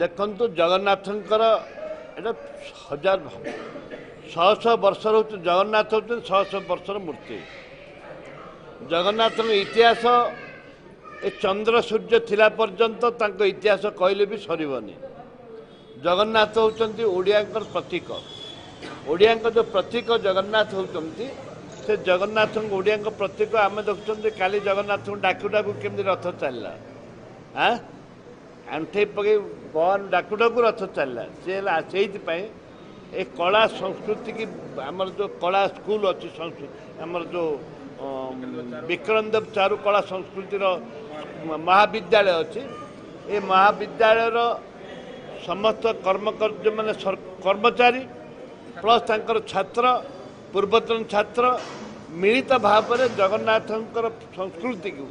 ଦେଖନ୍ତୁ, ଜଗନ୍ନାଥଙ୍କର ଏଇଟା ହଜାର ଶହ ଶହ ବର୍ଷର ହେଉଛି, ଜଗନ୍ନାଥ ହେଉଛନ୍ତି ଶହ ଶହ ବର୍ଷର ମୂର୍ତ୍ତି। ଜଗନ୍ନାଥଙ୍କ ଇତିହାସ ଏ ଚନ୍ଦ୍ର ସୂର୍ଯ୍ୟ ଥିଲା ପର୍ଯ୍ୟନ୍ତ ତାଙ୍କ ଇତିହାସ କହିଲେ ବି ସରିବନି। ଜଗନ୍ନାଥ ହେଉଛନ୍ତି ଓଡ଼ିଆଙ୍କର ପ୍ରତୀକ। ଓଡ଼ିଆଙ୍କ ଯେଉଁ ପ୍ରତୀକ ଜଗନ୍ନାଥ ହେଉଛନ୍ତି, ସେ ଜଗନ୍ନାଥଙ୍କ ଓଡ଼ିଆଙ୍କ ପ୍ରତୀକ। ଆମେ ଦେଖୁଛନ୍ତି କାଲି ଜଗନ୍ନାଥଙ୍କୁ ଡାକୁ ଡାକୁ କେମିତି ରଥ ଚାଲିଲା, ଆଁ ଆଣ୍ଠେଇ ପକେଇ ଭଗବାନ ଡାକୁ ଡାକୁ ରଥ ଚାଲିଲା। ସେ ହେଲା ସେଇଥିପାଇଁ ଏ କଳା ସଂସ୍କୃତିକି ଆମର ଯେଉଁ କଳା ସ୍କୁଲ ଅଛି, ସଂସ୍କୃତି ଆମର ଯେଉଁ ବିକ୍ରମଦେବ ଚାରୁ କଳା ସଂସ୍କୃତିର ମହାବିଦ୍ୟାଳୟ ଅଛି, ଏ ମହାବିଦ୍ୟାଳୟର ସମସ୍ତ କର୍ମକର୍ତ୍ତା କର୍ମଚାରୀ ପ୍ଲସ୍ ତାଙ୍କର ଛାତ୍ର, ପୂର୍ବତନ ଛାତ୍ର ମିଳିତ ଭାବରେ ଜଗନ୍ନାଥଙ୍କର ସଂସ୍କୃତିକୁ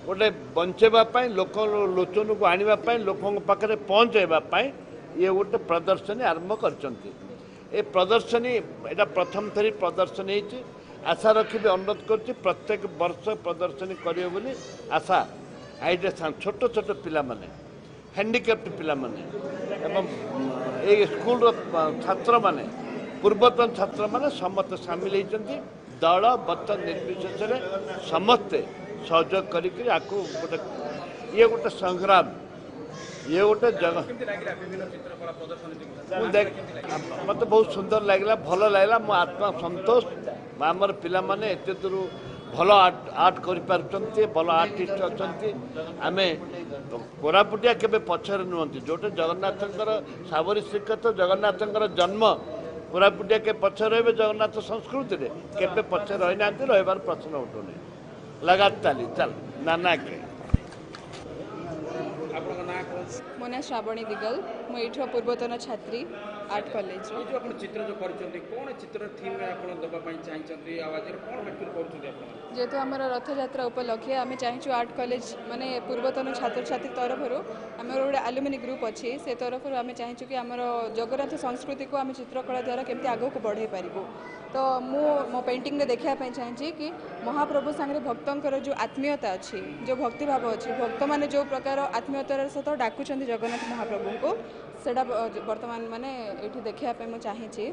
ଗୋଟେ ବଞ୍ଚେଇବା ପାଇଁ, ଲୋକ ଲୋଚନକୁ ଆଣିବା ପାଇଁ, ଲୋକଙ୍କ ପାଖରେ ପହଞ୍ଚାଇବା ପାଇଁ ଇଏ ଗୋଟେ ପ୍ରଦର୍ଶନୀ ଆରମ୍ଭ କରିଛନ୍ତି। ଏ ପ୍ରଦର୍ଶନୀ ଏଇଟା ପ୍ରଥମ ଥରି ପ୍ରଦର୍ଶନୀ ହେଇଛି। ଆଶା ରଖିବି, ଅନୁରୋଧ କରୁଛି, ପ୍ରତ୍ୟେକ ବର୍ଷ ପ୍ରଦର୍ଶନୀ କରିବେ ବୋଲି ଆଶା। ଏଇଟା ଛୋଟ ଛୋଟ ପିଲାମାନେ, ହ୍ୟାଣ୍ଡିକ୍ୟାପ୍ଟ ପିଲାମାନେ ଏବଂ ଏଇ ସ୍କୁଲର ଛାତ୍ରମାନେ, ପୂର୍ବତନ ଛାତ୍ରମାନେ ସମସ୍ତେ ସାମିଲ ହେଇଛନ୍ତି। ଦଳ ମତ ନିର୍ବିଶେଷରେ ସମସ୍ତେ ସହଯୋଗ କରିକି ଆକୁ ଗୋଟେ ଇଏ ଗୋଟେ ସଂଗ୍ରାମ, ଇଏ ଗୋଟେ ଜଗ। ମୁଁ ଦେଖ, ମୋତେ ବହୁତ ସୁନ୍ଦର ଲାଗିଲା, ଭଲ ଲାଗିଲା, ମୋ ଆତ୍ମା ସନ୍ତୋଷ। ଆମର ପିଲାମାନେ ଏତେ ଦୂର ଭଲ ଆର୍ଟ କରିପାରୁଛନ୍ତି, ଭଲ ଆର୍ଟିଷ୍ଟ ଅଛନ୍ତି। ଆମେ କୋରାପୁଟିଆ କେବେ ପଛରେ ନୁହନ୍ତି। ଯେଉଁଟା ଜଗନ୍ନାଥଙ୍କର ସାବରୀ ଶ୍ରୀକ୍ଷେତ୍ର, ଜଗନ୍ନାଥଙ୍କର ଜନ୍ମ, କୋରାପୁଟିଆ କେବେ ପଛରେ ରହିବେ? ଜଗନ୍ନାଥ ସଂସ୍କୃତିରେ କେବେ ପଛରେ ରହିନାହାନ୍ତି, ରହିବାର ପ୍ରଶ୍ନ ଉଠୁନି। ଲଗାତାର ଚାଲ ନା କେ। ମୋ ନାଁ ଶ୍ରାବଣୀ ଦିଗଲ, ମୁଁ ଏଇଠୁ ପୂର୍ବତନ ଛାତ୍ରୀ ଆର୍ଟ କଲେଜର। ଏଇ ଯେଉଁ ଆପଣ ଚିତ୍ର ଯେଉଁ କରିଛନ୍ତି, କ'ଣ ଚିତ୍ର ଥିମ୍ ଆପଣ ଦେବା ପାଇଁ ଚାହିଁଛନ୍ତି ଆଉ ଆଜିର କ'ଣ ଆକ୍ଚୁଆଲି କରୁଛନ୍ତି ଆପଣ? ଯେହେତୁ ଆମର ରଥଯାତ୍ରା ଉପଲକ୍ଷେ ଆମେ ଚାହିଁଛୁ ଆର୍ଟ କଲେଜ ମାନେ ପୂର୍ବତନ ଛାତ୍ରଛାତ୍ରୀ ତରଫରୁ, ଆମର ଗୋଟେ ଆଲୁମିନି ଗ୍ରୁପ୍ ଅଛି, ସେ ତରଫରୁ ଆମେ ଚାହିଁଛୁ କି ଆମର ଜଗନ୍ନାଥ ସଂସ୍କୃତିକୁ ଆମେ ଚିତ୍ରକଳା ଦ୍ୱାରା କେମିତି ଆଗକୁ ବଢ଼େଇ ପାରିବୁ। ତ ମୁଁ ମୋ ପେଣ୍ଟିଂରେ ଦେଖିବା ପାଇଁ ଚାହିଁଛି କି ମହାପ୍ରଭୁ ସାଙ୍ଗରେ ଭକ୍ତଙ୍କର ଯେଉଁ ଆତ୍ମୀୟତା ଅଛି, ଯେଉଁ ଭକ୍ତିଭାବ ଅଛି, ଭକ୍ତମାନେ ଯେଉଁ ପ୍ରକାର ଆତ୍ମୀୟତାର ସହିତ ଡାକୁଛନ୍ତି ଜଗନ୍ନାଥ ମହାପ୍ରଭୁଙ୍କୁ, ସେଇଟା ବର୍ତ୍ତମାନ ମାନେ ଏଇଠି ଦେଖିବା ପାଇଁ ମୁଁ ଚାହିଁଛି।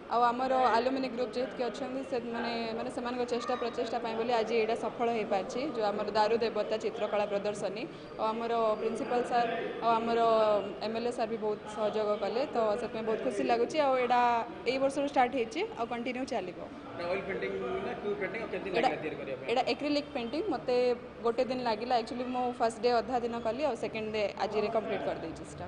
ଆଉ ଆମର ଆଲୁମିନି ଗ୍ରୁପ୍ ଯେତିକି ଅଛନ୍ତି, ସେମାନେ ମାନେ ସେମାନଙ୍କ ଚେଷ୍ଟା ପ୍ରଚେଷ୍ଟା ପାଇଁ ବୋଲି ଆଜି ଏଇଟା ସଫଳ ହେଇପାରିଛି, ଯେଉଁ ଆମର ଦାରୁ ଦେବତା ଚିତ୍ରକଳା ପ୍ରଦର୍ଶନୀ। ଆଉ ଆମର ପ୍ରିନ୍ସିପାଲ୍ ସାର୍ ଆଉ ଆମର ଏମ୍ ଏଲ୍ ଏ ସାର୍ ବି ବହୁତ ସହଯୋଗ କଲେ, ତ ସେଥିପାଇଁ ବହୁତ ଖୁସି ଲାଗୁଛି। ଆଉ ଏଇଟା ଏଇ ବର୍ଷରୁ ଷ୍ଟାର୍ଟ ହେଇଛି ଆଉ କଣ୍ଟିନ୍ୟୁ ଚାଲିବ। ଅଏଲ୍ ପେଣ୍ଟିଂ ନା କ୍ୟୁ ପେଣ୍ଟିଂ, ଆଉ କେତେ ଏଇଟା ଲାଗିଲା ତିଆରି କରିବା ପାଇଁ? ଏଇଟା ଏକ୍ରିଲିକ୍ ପେଣ୍ଟିଂ। ମୋତେ ଗୋଟେ ଦିନ ଲାଗିଲା। ଆକ୍ଚୁଆଲି ମୁଁ ଫାର୍ଷ୍ଟ ଡେ ଅଧା ଦିନ କଲି ଆଉ ସେକେଣ୍ଡ ଡେ ଆଜିରେ କମ୍ପ୍ଲିଟ୍ କରିଦେଇଛି ସେଟା।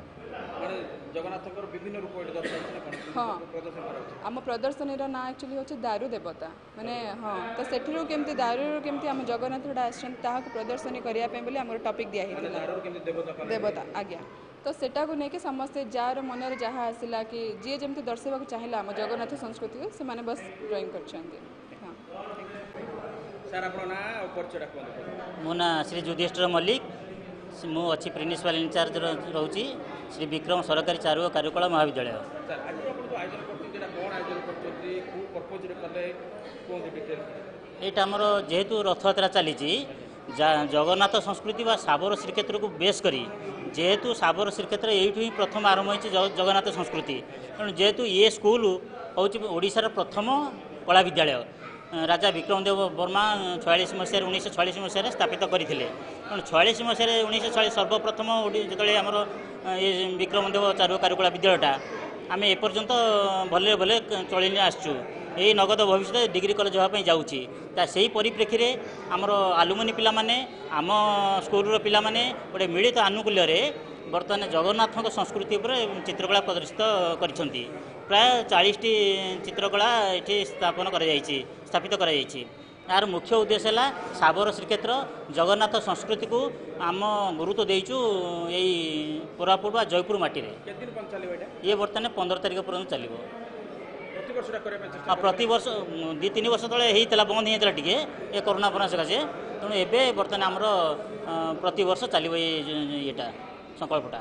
ମାନେ ଜଗନ୍ନାଥଙ୍କର ବିଭିନ୍ନ ରୂପ ଏଠି ଦର୍ଶାଯାଇଛି ନା କ'ଣ? ହଁ। ପ୍ରଦର୍ଶନ କରାଯାଉଛି। ଆମ ପ୍ରଦର୍ଶନୀର ନାଁ ଆକ୍ଚୁଆଲି ହେଉଛି ଦାରୁ ଦେବତା, ମାନେ ହଁ, ତ ସେଥିରୁ କେମିତି ଦାରୁରୁ କେମିତି ଆମ ଜଗନ୍ନାଥଟା ଆସିଛନ୍ତି, ତାହାକୁ ପ୍ରଦର୍ଶନୀ କରିବା ପାଇଁ ବୋଲି ଆମର ଟପିକ୍ ଦିଆ ମାନେ ହେଇଥିଲା। ଦାରୁରୁ କେମିତି ଦେବତା କଲେ? ଦେବତା, ଆଜ୍ଞା। ତ ସେଟାକୁ ନେଇକି ସମସ୍ତେ ଯାହାର ମନରେ ଯାହା ଆସିଲା କି ଯିଏ ଯେମିତି ଦର୍ଶାଇବାକୁ ଚାହିଁଲା ଆମ ଜଗନ୍ନାଥ ସଂସ୍କୃତିକୁ, ସେମାନେ ବସ୍ ଡ୍ରଇଂ କରିଛନ୍ତି। ହଁ। ସାର୍, ଆପଣଙ୍କ ନାଁ ଆଉ ପରିଚୟଟା କୁହନ୍ତୁ। ମୋ ନାଁ ଶ୍ରୀ ଯୁଧିଷ୍ଠିର ମଲ୍ଲିକ। ମୁଁ ଅଛି ପ୍ରିନ୍ସିପାଲ ଇନଚାର୍ଜ ରହୁଛି ଶ୍ରୀ ବିକ୍ରମ ସରକାରୀ ଚାରୁ ଓ କାରୁକଳା ମହାବିଦ୍ୟାଳୟ। ସାର୍, ଆଜି ଆପଣ ଯେଉଁ ଆୟୋଜନ କରୁଛନ୍ତି, ଏଇଟା କ'ଣ ଆୟୋଜନ କରୁଛନ୍ତି, କେଉଁ ପର୍ପଜରେ କଲେ, କୁହନ୍ତୁ ଡିଟେଲ୍ସ। ଏଇଟା ଆମର ଯେହେତୁ ରଥଯାତ୍ରା ଚାଲିଛି, ଜଗନ୍ନାଥ ସଂସ୍କୃତି ବା ଶାବର ଶ୍ରୀକ୍ଷେତ୍ରକୁ ବେସ୍ କରି, ଯେହେତୁ ଶାବର ଶ୍ରୀକ୍ଷେତ୍ର ଏଇଠୁ ହିଁ ପ୍ରଥମ ଆରମ୍ଭ ହୋଇଛି ଜଗନ୍ନାଥ ସଂସ୍କୃତି, ତେଣୁ ଯେହେତୁ ଏ ସ୍କୁଲ ହେଉଛି ଓଡ଼ିଶାର ପ୍ରଥମ କଳା ବିଦ୍ୟାଳୟ, ରାଜା ବିକ୍ରମଦେବ ବର୍ମା 46 ମସିହାରେ, 1946 ମସିହାରେ ସ୍ଥାପିତ କରିଥିଲେ। ତେଣୁ 46 ମସିହାରେ, 1946 ସର୍ବପ୍ରଥମ ଯେତେବେଳେ ଆମର ଏ ବିକ୍ରମଦେବ ଚାରୁ କାରୁକଳା ବିଦ୍ୟାଳୟଟା ଆମେ ଏପର୍ଯ୍ୟନ୍ତ ଭଲରେ ଭଲରେ ଚଳେଇ ଆସିଛୁ, ଏଇ ନଗଦ ଭବିଷ୍ୟତରେ ଡିଗ୍ରୀ କଲେଜ ହେବା ପାଇଁ ଯାଉଛି। ତା ସେଇ ପରିପ୍ରେକ୍ଷୀରେ ଆମର ଆଲୁମିନି ପିଲାମାନେ, ଆମ ସ୍କୁଲର ପିଲାମାନେ ଗୋଟେ ମିଳିତ ଆନୁକୂଲ୍ୟରେ ବର୍ତ୍ତମାନ ଜଗନ୍ନାଥଙ୍କ ସଂସ୍କୃତି ଉପରେ ଚିତ୍ରକଳା ପ୍ରଦର୍ଶିତ କରିଛନ୍ତି। ପ୍ରାୟ 40ଟି ଚିତ୍ରକଳା ଏଠି ସ୍ଥାପନ କରାଯାଇଛି, ସ୍ଥାପିତ କରାଯାଇଛି। ଏହାର ମୁଖ୍ୟ ଉଦ୍ଦେଶ୍ୟ ହେଲା ଶାବର ଶ୍ରୀକ୍ଷେତ୍ର ଜଗନ୍ନାଥ ସଂସ୍କୃତିକୁ ଆମ ଗୁରୁତ୍ୱ ଦେଇଛୁ ଏଇ କୋରାପୁଟ ବା ଜୟପୁର ମାଟିରେ। କେତେ ଦିନ ପର୍ଯ୍ୟନ୍ତ ଚାଲିବ ଏଇଟା? ଇଏ ବର୍ତ୍ତମାନ 15 ତାରିଖ ପର୍ଯ୍ୟନ୍ତ ଚାଲିବ। ପ୍ରତିବର୍ଷଟା କରିବା ପାଇଁ ଚେଷ୍ଟା? ଆଉ ପ୍ରତିବର୍ଷ। 2-3 ବର୍ଷ ତଳେ ହେଇଥିଲା, ବନ୍ଦ ହେଇଯାଇଥିଲା ଟିକେ ଏ କରୋନା ଫରୋନା ସକାଶେ। ତେଣୁ ଏବେ ବର୍ତ୍ତମାନ ଆମର ପ୍ରତିବର୍ଷ ଚାଲିବ ଏଇ ଇଏଟା, ସଂକଳ୍ପଟା।